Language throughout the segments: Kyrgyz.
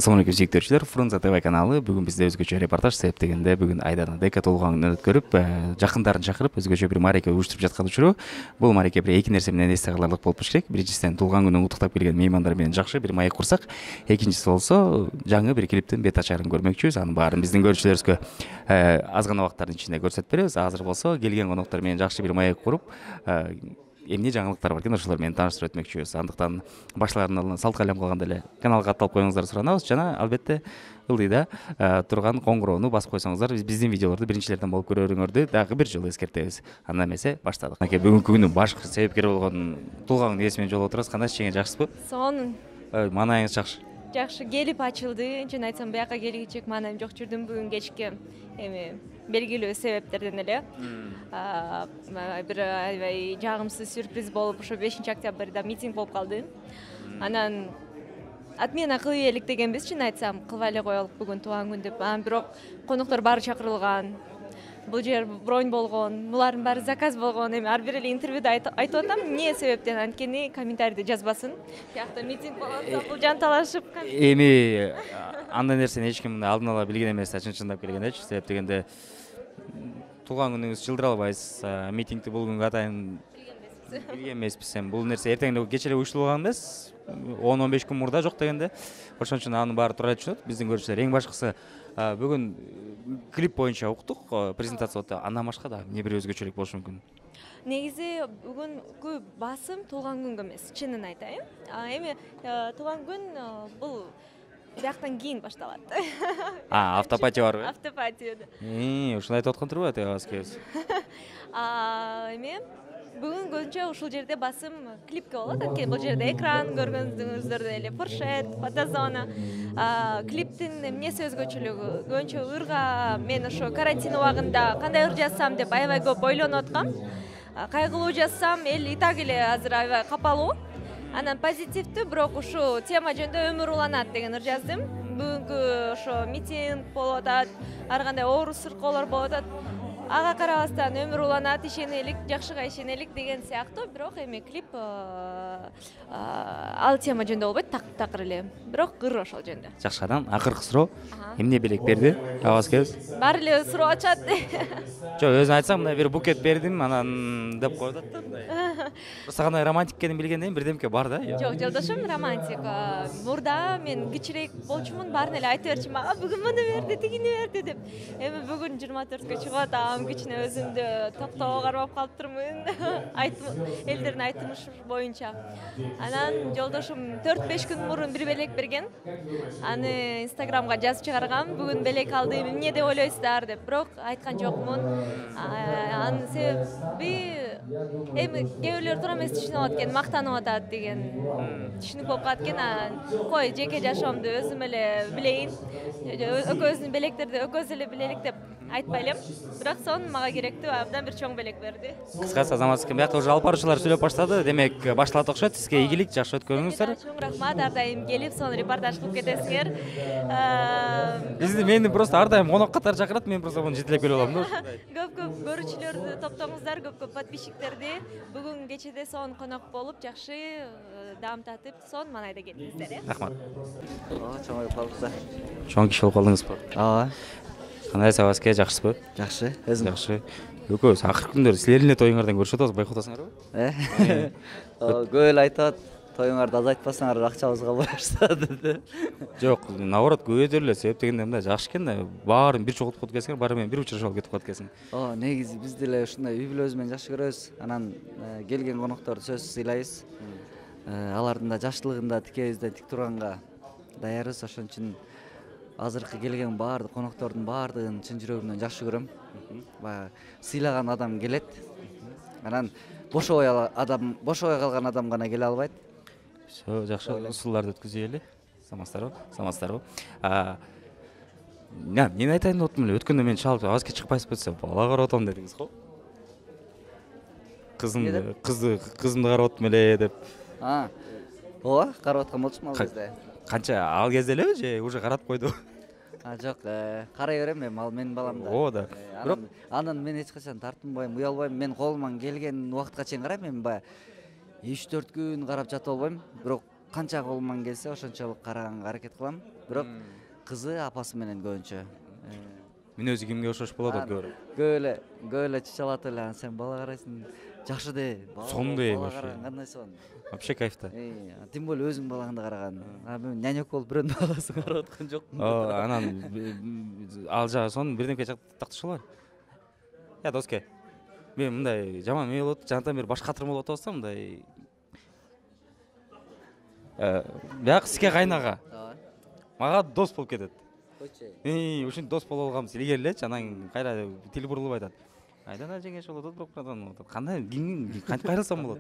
Assalamu alaikum сүйүктүүчүлөр. Фрунзе ТВ каналы бүгүн бизде өзгөчө репортаж себеп дегенде бүгүн Айдана дека толгоңун өткөрүп, жакындарын чакырып өзгөчө бир мареке уюштуруп жаткан учуру. Бул мареке бир эки нерсе менен эсте каларлык болуп керек. Биринчисинен туулган күнүн куттуктап келген меймандар менен жакшы бир маек курсак. Экинчиси болсо жаңы бир клиптин бет ачарын көрмөкчүбүз. Анын баарын биздин көрүүчүлөрүбүзгө аз гана убакыттардын ичинде көрсөтүп беребиз. Азыр болсо келген коноктор менен жакшы бир маек куруп эмне жаңылыктар бар экен ошолор менен тааныштырып өтмөкчүбүз. Андыктан башлаарынан алдынан салт калем кылганда эле каналга катталып коюңуздар суранабыз жана албетте ылдыйда турган коңгуроону басып койсоңуздар биздин видеолорду биринчилерден болуп көрөрүңөрдү дагы бир жолу эскертебиз. Анда эмесе баштадык. Бүгүнкү күнүн баш себепкери болгон туулган күнү менен жолугуп отурабыз. Кандай чейин жакшысызбы? Сонун. Маанайыңыз жакшы. Жакшы келип ачылды. Чын айтсам бияка келгичек маанайым жок жүрдүм бүгүн кечке. Белгилүү себептерден эле бир аябай жагымсыз сюрприз болуп ошо 5-октябрда митинг болуп калды. Анан отмена кылып элек дегенбиз, чын айтсам кылбай эле коелук бүгүн туулган күн деп. Бирок коноктор баары чакырылган. Бул жер бронь болгон, булардын баары заказ болгон. Ар бир эле интервьюда айтып атам, эмне себептен, анткени комментарийде жазбасын. Биякта митинг болуп атса, бул жанталашып. Эми андай нерсени эч ким алдын ала билген эмес, чынчындап келгендечи. Себеп дегенде туулган күнүңүз жылдыра албайсыз. Митингди бул күнгө атайын билген эмеспиз. Бул нерсе эртең эле кече эле уюштурулган эмес. 10-15 күн мурда жок дегенде. Ошон үчүн анын баары туура түшүнөт. Биздин көрүүчүлөр эң башкысы бүгүн клип боюнча уктук, презентация болот. Андан башка да эмне бир өзгөчөлүк болушу мүмкүн? Негизи бүгүнкү басым туулган күнгө эмес, чынын айтайын. Эми туулган күн бул бияктан кийин башталат. Автопатия барбы? Автопатия. Ушуну айтып аткан турбу атабыз кебиз? Эми бүгүн көбүнчө ушул жерде басым клипке болот. Анткени бул жерде экран көргөнүңүздөрдөй эле фуршет, фотозона. Клиптин эмнеси өзгөчөлүгү? Көбүнчө ырга мен ошо карантин убагында кандай ыр жазсам деп аябай көп ойлонуп аткам. Кайгылуу жазсам, эл и так эле азыр аябай капалуу. Анан позитивдүү, бирок ушул тема жөнүндө өмүр уланат деген ыр жаздым. Бүгүнкү ошо митинг болуп атат, ар кандай оору сыркоолор болуп атат. Ага карабастан өмүр уланат, ишенелик, жакшыга ишенелик деген сыяктуу. Бирок эми клип ал тема жөнүндө болбойт, такыр эле. Бирок ыр ошол жөнүндө. Жакшы, анан акыркы суроо. Эмне белек берди? Абаз кебиз? Баары эле суроо ачат. Жок, өзүн айтсам, мына бир букет бердим, анан деп коюп атат да мындай. Просто кандай романтик экенин билгенден кийин бирдемке бар да. Жок, жолдошум романтик. Мурда мен кичирээк болчумун, баарын эле айта берчүмүн, мага бүгүн муну берди, тигини берди деп. Эми бүгүн 24кө чыгып атам, кичине өзүмдү токтоо кармап калыптырмын. Элдердин айтымышы боюнча. Анан жолдошум 4-5 күн мурун бир белек берген. Аны Инстаграмга жазып чыгаргам. Бүгүн белек алдым, эмне деп ойлойсуздар деп. Бирок айткан жокмун. Анын себеби эми кээ бирлер туура эмес түшүнүп алат экен, мактанып атат деген түшүнүк болуп калат экен. Кой, жеке жашоомду өзүм эле билейин. Экөөбүздүн белектерди экөөбүз эле билелик деп айтпай элем. Бирок сон мага керектүү, абдан бир чоң белек берди. Кыскасы Азамат экен, биякта уже алып баруучулар сүйлөп баштады. Демек, башталат окшойт. Сизге ийгилик, жакшы өткөрүңүздөр. Чоң рахмат, ар дайым келип, сону репортаж кылып кетесиңер. Мени просто ар дайым конок катары чакырат, мен просто муну жетелеп келип алам да ушундай. Көп көрүүчүлөрдү топтоңуздар, көп подписчиктерди. Бүгүн кечеде сон конок болуп, жакшы даам татып, сон маанайда келдиңиздер. Рахмат. Чоң болуп калдык. Чоң киши болуп калдыңызбы? Ооба. Кандайсыз Абазке, жакшысызбы? Жакшы. Өзүң? Жакшы. Экөөбүз акыркы күндөрү силердин эле тоюңардан көрүшүп атабыз, байкап атасыңарбы? Көп эле айтат, тоюңарды азайтпасаңар акчабызга буйруштар деп. Жок, наоборот, көбөйтөлү эле. Себеп дегенде мындай жакшы экен да, баарын бир чогултуп коет экенсиңер, баары менен бир учурашып алып кетип калат экенсиң. Негизи биз деле ушундай үй бүлөбүз менен жакшы көрөбүз. Анан келген конокторду сөзсүз сыйлайбыз. Алардын да жакшылыгында тикебизден тик турганга даярбыз. Ошон үчүн азыркы келген баардык коноктордун баардыгын чын жүрөгүмдөн жакшы көрөм. Баягы сыйлаган адам келет. Анан бошобой калган адам гана келе албайт. Всё, жакшы, усулларды өткүзөйлү. Самастарбы? Мен айтайын деп аттым эле. Өткөндө мен чалып, Абазке чыкпайсызбы десем, бала карап атам дедиңиз го. Кызымды карап аттым эле деп. Ооба, карап аткан болчумун ал кезде. Канча ал кезде элеби же уже каратып койду? Жок, карай берем эми, ал менин балам да. Ооба да. Бирок анан мен эч качан тартынбайм, уялбайм. Мен колуман келген убакытка чейин карайм. Эми баягы 3-4 күн карап жатып албайм. Бирок канча колуман келсе ошончолук караганга аракет кылам. Бирок кызы апасы менен көбүнчө. Мүнөзү кимге окшош болот Көп эле чычалатып эле, сен бала карайсың, жакшы де. Сондай бала вообще. караган кандай сон. Вообще кайфта. Тем более өзүң балаңды караган. Мен нянек болуп бирөөнүн баласын карап аткан жокмун. Анан ал жагы сонун бирдемке такташалар. Я доске. Мен мындай жаман эме болот, жанатан бери баш катырым болуп атабызда мындай. Бияк сизге кайнага. Мага дос болуп кетет. Ушинтип дос боло алганбыз илгери элечи, анан кайра тил бурулуп айтат. Айдана жеңеш болот, бирок кандай кантип кайрылсам болот?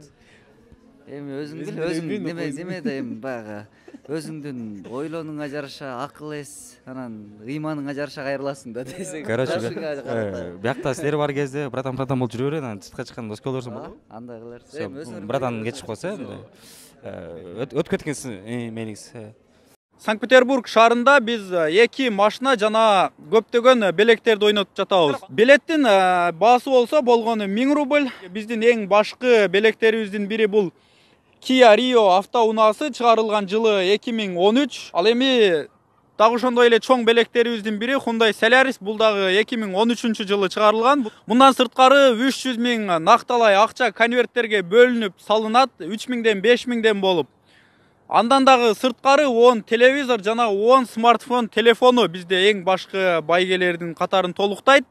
Эми өзүң бил, өзүң неме да эми баягы өзүңдүн ойлонуңа жараша акыл эс, анан ыйманыңа жараша кайрыласың да десең. Короче, биякта силер бар кезде братан болуп жүрө берет, анан сыртка чыкканда дос боло берсең болобу? Андай кыларсың. Братан кетишип калса, өтүп кеткенсиз мениңиз. Санкт-Петербург шаарында биз 2 машина жана көптөгөн белектерди ойнотуп жатабыз. Билеттин баасы болсо болгону 1000 рубль. Биздин эң башкы белектерибиздин бири бул Kia Rio автоунаасы, чыгарылган жылы 2013. Ал эми дагы ошондой эле чоң белектерибиздин бири Hyundai Solaris, бул дагы 2013 жылы чыгарылган. Мындан сырткары 300 000 накталай акча конверттерге бөлүнүп салынат, 3000ден 5000ден болуп. Андан дагы сырткары 10 телевизор жана 10 смартфон телефону бизде эң башкы байгелердин катарын толуктайт.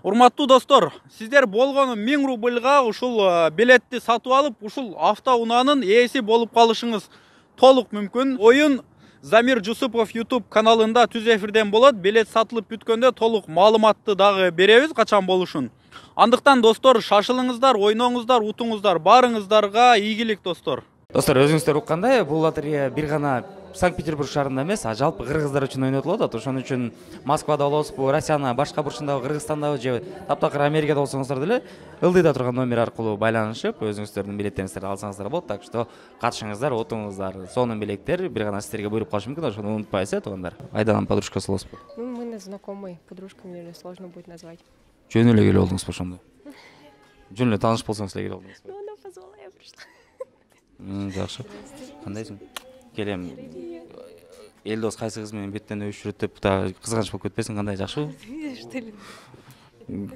Урматтуу достор, сиздер болгону 1000 рубльга ушул билетти сатып алып, ушул автоунаанын ээси болуп калышыңыз толук мүмкүн. Оюн Замир Жусупов YouTube каналында түз эфирден болот. Билет сатылып бүткөндө толук маалыматты дагы беребиз качан болушун. Андыктан достор, шашылыңыздар, ойноңуздар, утуңуздар, баарыңыздарга ийгилик достор. Достор, өзүңүздөр уккандай, бул лотерея бир гана Санкт-Петербург шаарында эмес, а жалпы кыргыздар үчүн ойнотулуп атат. Ошон үчүн Москвада болобузбу, Россиянын башка бурчундагы, Кыргызстандагы же таптакыр Америкада болсоңуздар деле ылдыйда турган номер аркылуу байланышып, өзүңүздөрдүн билеттериңиздерди алсаңыздар болот. Так что катышыңыздар, отуңуздар. Сонун билеттер бир гана сиздерге буйруп калышы мүмкүн, ошону унутпайсыз, туугандар. Айданын подружкасы болосузбу? Мы знакомые, подружками, наверное, сложно будет назвать. Жөн эле келип алдыңызбы ошондо? Жөн эле тааныш болсоңуз эле келип алдыңызбы? Ну, она позвала, я пришла. Жакшы. Кандайсың? Келем. Элдос кайсы кыз менен беттен өбүшүп жүрөт деп да кызганыч болуп кетпесиң, кандай, жакшыбы? Что ли?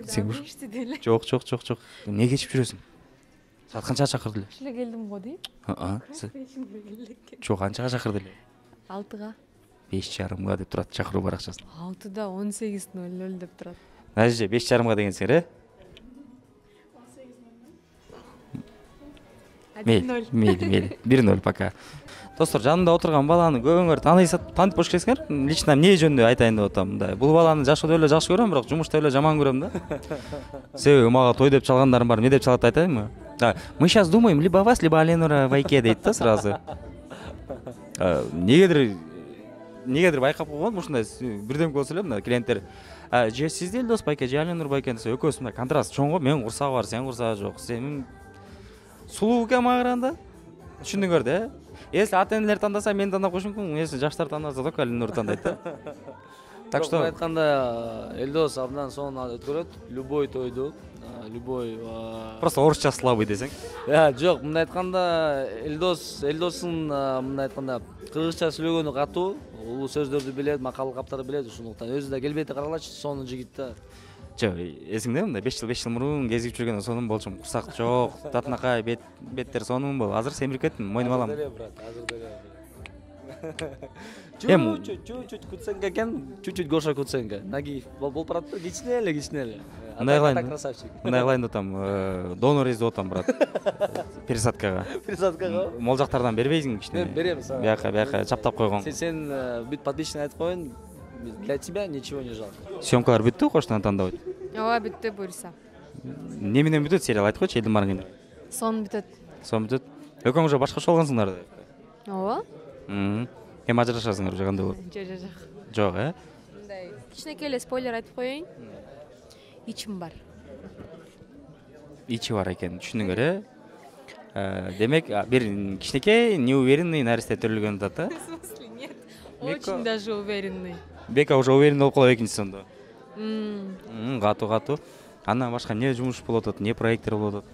Сен Что ли? Жок. Эмне кечип жүрөсүң? Саат канчага чакырды эле? Шиле келдим го дейм. Жок, канчага чакырды эле? 6-га. 5:30 деп турат чакыруу баракчасы. 6-да 18:00 деп турат. Даже 5:30 дегенсиңер, Мейли. 1-0 пока. Достор, жанымда отурган баланы көбүңөр таанып болуш керексиңер. Лично эмне жөнүндө айтайын деп атам. Мындай, бул баланы жашоодо эле жакшы көрөм, бирок жумушта эле жаман көрөм да. Себеби мага той деп чалгандарым бар. Эмне деп чалат айтайынбы? Мы сейчас думаем либо вас, либо Аленура Вайке дейт да сразу. Негедир байкап койгон ушундай бирдемке болсо эле мына клиенттер же сиз Элдос байке, же Аленура байке десе, экөөсү мындай контраст чоң го. Мен курсагы бар, сен курсагы жок. Сен сулуу экен мага караганда. Түшүндүңөр да? Если ата-энелер тандаса, мен тандап коюшум мүмкүн. Если жаштар тандаса, только Аленура тандайт да. Так что айтканда Элдос абдан сонун өткөрөт. Любой тойду, любой просто орусча слабый десең. Жок, мындай айтканда Элдостун мындай айтканда кыргызча сүйлөгөнү катуу, улуу сөздөрдү билет, макал каптарды билет, ошондуктан өзү да келбейти каралачы, сонун жигит да. Жок, эсиңде мындай 5 жыл мурун кезип жүргөндө сонун болчумун. Курсак жок, татынакай беттер сонун бол. Азыр семирип кеттим, мойнума алам. Азыр деле. Чуть-чуть кутсенка экен, чуть-чуть Гоша кутсенка. Нагиев болуп барат, кичине эле. Мындай кылайын деп атам, донор издеп атам, брат. Пересадкага. Мол жактардан бербейсиң кичине. Мен берем сага. Бияка чаптап койгон. Сен бүт подписчиктер айтып коюн. Для тебя ничего не жалко. Съемкалар бүттү, коштон тандап. Ооба, бүтті буюрса. Не менен бүтөт сериал айтып койчу, элдин барган. Сон бүтөт. Экөөң уже башкача болгонсуңдар. Ооба. Эми ажырашасыңар уже кандай болот? Жок, Мындай кичинекей эле спойлер айтып коеюн. Ичим бар. Ичи бар экен, түшүндүңөр, Демек, бир кичинекей, неуверенный наристе төрөлгөн атат да? В смысле, нет. Очень даже уверенный. Бека уже уверенный болуп калып экинчи сонда. Катуу. Андан башка эмне жумуш болуп атат, эмне проекттер болуп атат?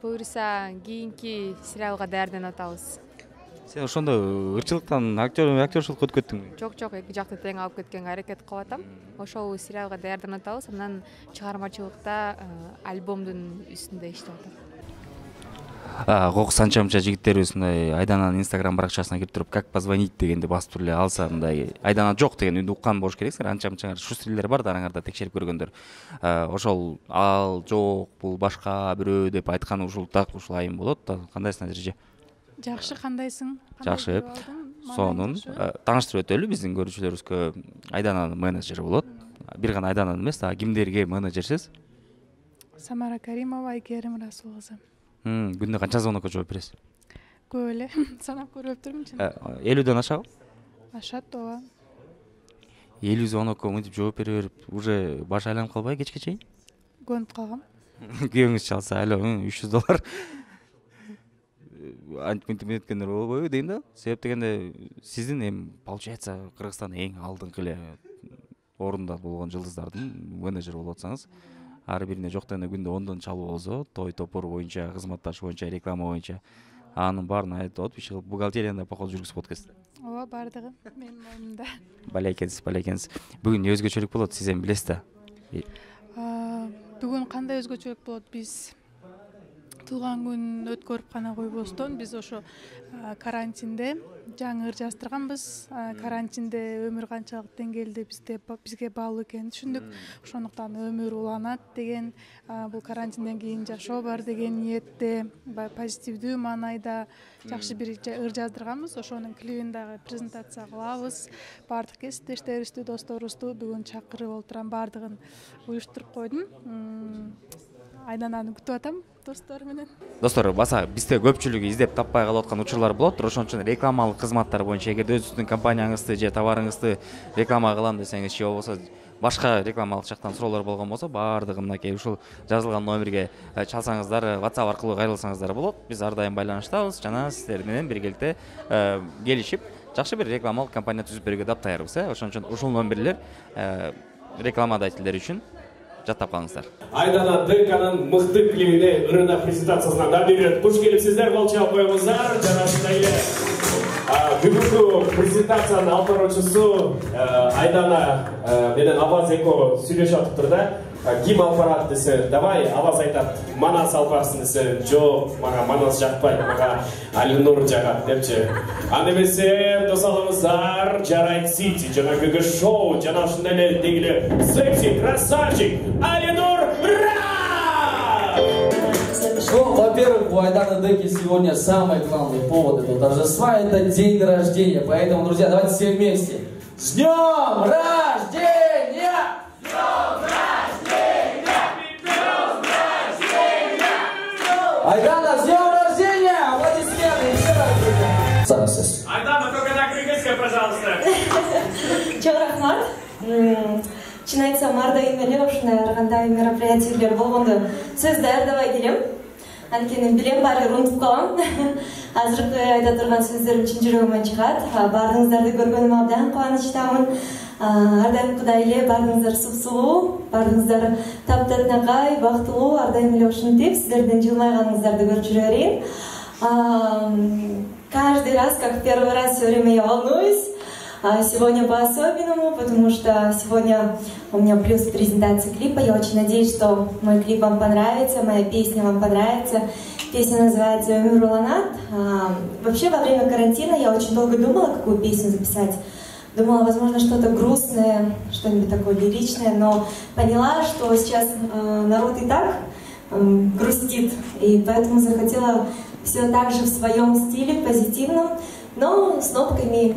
буюрса кийинки сериалга даярданып атабыз. Сен ошондо ырчылыктан актерчулукка өтүп кеттиңби? Жок, эки жакты тең алып кеткенге аракет кылып атам. Ошол сериалга даярданып атабыз. Андан чыгармачылыкта альбомдун үстүндө иштеп атам. Кокус анча-мынча жигиттерибиз мындай Айдананын Instagram баракчасына кирип туруп как позвонить дегенди басып туруп эле алса мындай Айдана жок деген үнү уккан болуш керексиңер. Анча-мынча шустрилер бар да араңарда текшерип көргөндөр. Ошол ал жок, бул башка бирөө деп айтканы ушул так ушул айым болот да. Кандайсың Надирже? Жакшы, кандайсың? Жакшы. Сонун тааныштырып өтөлү биздин көрүүчүлөрүбүзгө. Айдананын менеджери болот. Бир гана Айдананын эмес, кимдерге менеджерсиз? Самара Каримова, Айгерим Расул кызы. Күндө канча звонокко жооп бересиз? Көп эле, санап көрүптүрмүн. 50дөн ашабы? Ашат ооба. 50 звонокко мынтип жооп бере берип, уже баш айланып калбайбы кечке чейин? Көнүп калгам. Күйөөңүз чалса, алло, $300. Антминтип өткөндөр болбойбу дейм да. Себеп дегенде сиздин эми получается Кыргызстандын эң алдыңкы эле орунда болгон жылдыздардын менеджери болуп атсаңыз, ар бирине жок дегенде күндө 10дон чалуу болсо, той топур боюнча, кызматташ боюнча, реклама боюнча анын баарын айтып атып, иши кылып бухгалтерияны походу жүргүзүп атат. Ооба, бардыгы менин оюмда. Балекенсиз. Бүгүн өзгөчөлүк болот, сиз эми билесиз да. Бүгүн кандай өзгөчөлүк болот? Биз туулган күн өткөрүп гана койбостон биз ошо карантинде жаңы ыр жаздырганбыз. Карантинде өмүр канчалык деңгээлде бизге баалуу экенин түшүндүк. Ошондуктан өмүр уланат деген, бул карантинден кийин жашоо бар деген ниетте, позитивдүү маанайда жакшы бир ыр жаздырганбыз. Ошонун клибин дагы презентация кылабыз. Бардык кесиптештерибизди, досторубузду бүгүн чакырып олтурам, бардыгын уюштуруп койдум. Айдананы күтүп атам достор менен. Достор, баса бизде көпчүлүгү издеп таппай калып аткан учурлар болот. Ошон үчүн рекламалык кызматтар боюнча эгерде өзүңүздүн компанияңызды же товарыңызды реклама кылам десеңиз, же болбосо башка рекламалык жактан суроолор болгон болсо, баардыгы мынакей ушул жазылган номерге чалсаңыздар, WhatsApp аркылуу кайрылсаңыздар болот. Биз ар дайым байланыштабыз жана сиздер менен биргеликте келишип, жакшы бир рекламалык компания түзүп берүүгө даптайбыз. Ошон үчүн ушул номерлер рекламодательдер үчүн жаттап калыңыздар. Айдана ДКнын мыкты клибине ырына презентациясына дабир туш келипсиздер, кол чалып коюңуздар. Жана ушундай эле бүгүнкү презентациянын алып баруучусу Айдана менен Аваз эко сүйлөшүп атыптыр да. Ким алып барат десе, давай, Аваз айтат, Манас алып барсын десе, жок, мага Манас жакпайт, мага Алинур жагат депчи. Анда эмесе, досалыңыздар, жарайт Сити жана Гг шоу жана ушундай эле дегиле секси красавчик Алинур Ну, во-первых, у Айданы Деки сегодня самый главный повод этого торжества – это день рождения. Поэтому, друзья, давайте все вместе. С днем рождения! С днем рождения! С днем рождения! Айдана, с днем рождения! Аплодисменты еще раз, друзья! Айдана, только на кыргызском, пожалуйста. Чоң рахмат. Чын айтсам, ар дайым эле ушундай ар кандай мероприятиелер болгондо сөз даярдабай келем. Анткени билем баары унутуп калам. Азыркы айта турган сөздөрүм чын жүрөгүмөн чыгат. Баарыңыздарды көргөнүмө абдан кубанычтамын. Ар дайымкыдай эле баарыңыздар сулуу, баарыңыздар таптатынакай, бактылуу, ар дайым эле ушинтип сиздердин жылмайганыңыздарды көрүп жүрө берейин. Каждый раз, как первый раз, все время я волнуюсь. Сегодня по-особенному, потому что сегодня у меня плюс презентация клипа. Я очень надеюсь, что мой клип вам понравится, моя песня вам понравится. Песня называется «Өмүр уланат». Вообще, во время карантина я очень долго думала, какую песню записать. Думала, возможно, что-то грустное, что-нибудь такое лиричное, но поняла, что сейчас народ и так грустит, и поэтому захотела все так же в своем стиле, позитивном, но с нотками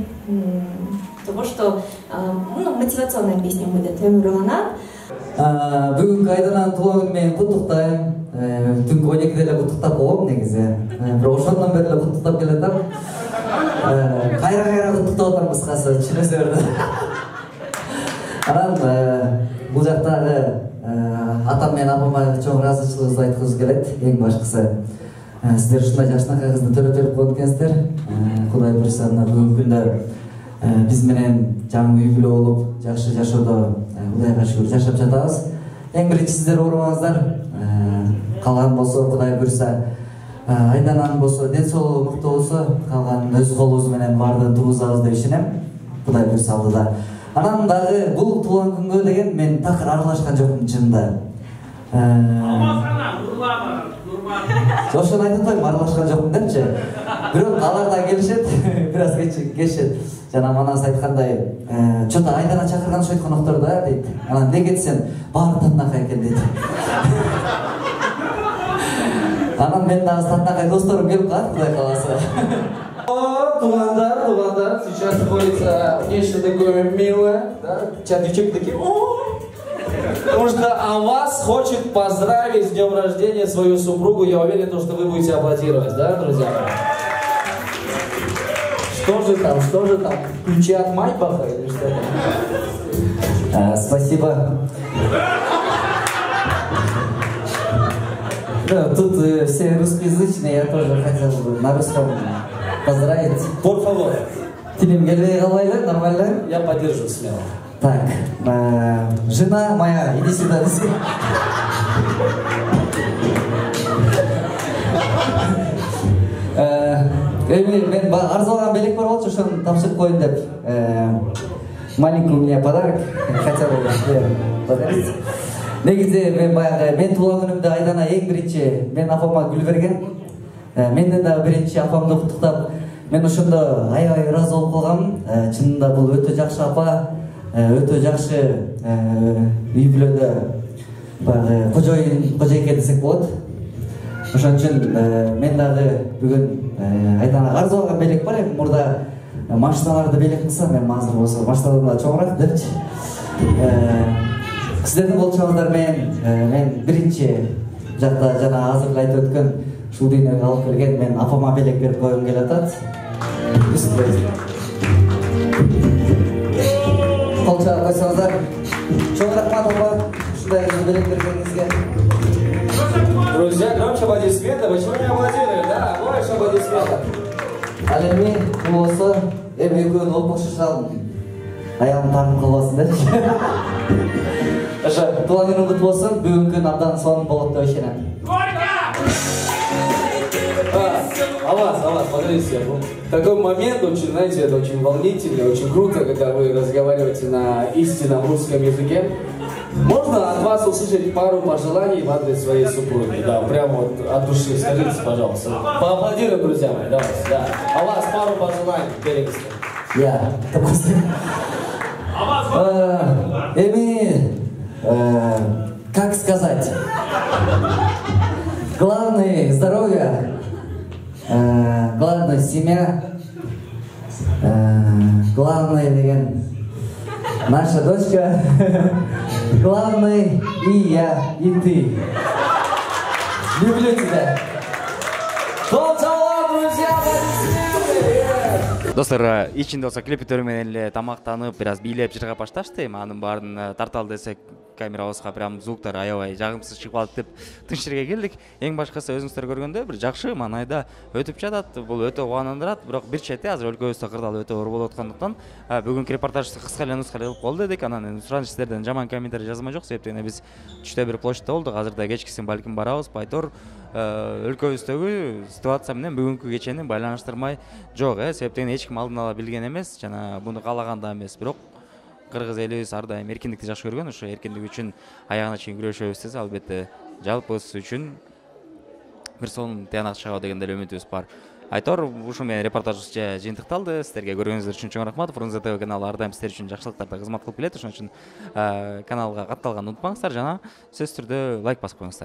того, что мотивационная песня будет «Өмүр уланат». Бүгүнкү Айдананын туулган күнү менен куттуктайм. Түнкү 12-де эле куттуктап койгом негизи. Бирок ошондон бери эле куттуктап келатам. Кайра куттуктап атам кыскасы, түшүнөсү берди. Анан бул жактагы атам менен апама чоң ыраазычылыгыбызды айткыбыз келет. Эң башкысы сиздер ушундай жакшынакай кызды төрөтөлүп коюп экенсиздер. Кудай буюрса бүгүнкү күндө биз менен жаңы үй бүлө болуп, жакшы жашоодо Кудайга шүгүр жашап жатабыз. Эң биринчи сиздер оорубаңыздар. калган болсо Кудай буйрса Айдананын болсо ден соолугу мыкты болсо калганын өз колубуз менен баардыгын тургузабыз деп ишенем. Кудай буйрса алдыда. Анан дагы бул туулган күнгө деген мен такыр аралашкан жокмун чынында. Ошону айтып атпайм, аралашкан жокмун депчи. Бирок алар да келишет, бир аз келишет. Жана манас айткандай, чото Айдана чакырган ошо конокторду да дейт. Анан эмне кетсем, баары татынакай экен дейт. Анан мен дагы татынакай досторум келип калат, Кудай кааласа. Туугандар, сейчас находится нечто такое милое, да? Сейчас девчонки такие, потому что вас хочет поздравить с днем рождения свою супругу. Я уверен, что вы будете аплодировать, да, друзья? Что же там? Ключи от Майбаха или что там? Спасибо. Да, тут все русскоязычные, я тоже хотел бы на русском поздравить. Por favor. Тебе келбей калбайлы, нормально? Я поддержу смело. Так, жена моя, иди сюда. Мен арзалган белек бар болчу, ошону тапшырып коеюн деп. Маленький у меня подарок, хотя бы подарить. Негизи мен туулган күнүмдө Айдана эң биринчи мен апама гүл берген. Менден дагы биринчи апамды куттуктап, мен ошондо аябай ыраазы болуп калгам. Чынында бул өтө жакшы апа, өтө жакшы үй бүлөдө баягы кожойке десек болот. Ошон үчүн мен дагы бүгүн Айданага арзу алган белек бар, эми мурда машиналарды белек кылсам, мен азыр болсо машинадан да чоңураак депчи. Сиздердин болчоңуздар мен биринчи жакта жана азыр айтып өткөн ушул дүйнөгө алып келген мен апама белек берип койгум келип атат. Кол чаап койсоңуздар. Чоң рахмат апа, ушундай белек бергениңизге. Друзья, громче аплодисменты. Почему не аплодируют? Да, больше аплодисментов. Ал эми бул болсо экөөнүн олпошушан аягым тагым калбасын депчи. Ошо туулган күнүң кутту болсун, бүгүнкү күн абдан сонун болот деп ишенем. Аваз, подождите. Такой момент очень, знаете, это очень волнительный, очень круто, когда вы разговариваете на истинном русском языке. Можно от вас услышать пару пожеланий в адрес своей супруги? Да, прямо вот от души. Скажите, пожалуйста. Поаплодируем, друзья мои, давайте, да. А вас пару пожеланий перевести. Я. Эми, как сказать? Главное здоровье, главное семья, главное деген наша дочка, главный и я, и ты. Люблю тебя. Достор, ичинде болсо клипитөр менен эле тамактанып, бир аз бийлеп жыргап башташты. Эми анын баарын тарталы десек, камерабызга прям звуктар аябай жагымсыз чыгып алат деп тынч жерге келдик. Эң башкысы өзүңүздөр көргөндөй бир жакшы маанайда өтүп жатат. Бул өтө кубандырат, бирок бир чети азыр өлкөбүздө кырдаал өтө оор болуп аткандыктан бүгүнкү репортажды кыска эле нускада кылып кол дедик. Анан сураныч сиздерден жаман комментарий жазма жок, себептен биз түштө бир площадьта болдук. Азырда кечкисин балким барабыз. Байтор өлкөбүздөгү ситуация менен бүгүнкү кечени байланыштырмай жок, себептен эч ким алдын ала билген эмес, жана буну каалаган да эмес. Бирок кыргыз элибиз ар дайым эркиндикти жакшы көргөн, ошо эркиндик үчүн аягына чейин күрөшөбүз десе, албетте жалпыбыз үчүн бир сонун тыянак чыгабы деген деле үмүтүбүз бар. Айтор, ушул менен репортажыбыз жыйынтыкталды. Сиздерге көргөнүңүздөр үчүн чоң рахмат. Фрунзе ТВ каналы ар дайым сиздер үчүн жакшылыктарда кызмат кылып келет. Ошон үчүн каналга катталганды унутпаңыздар жана сөзсүз түрдө лайк басып коюңуздар.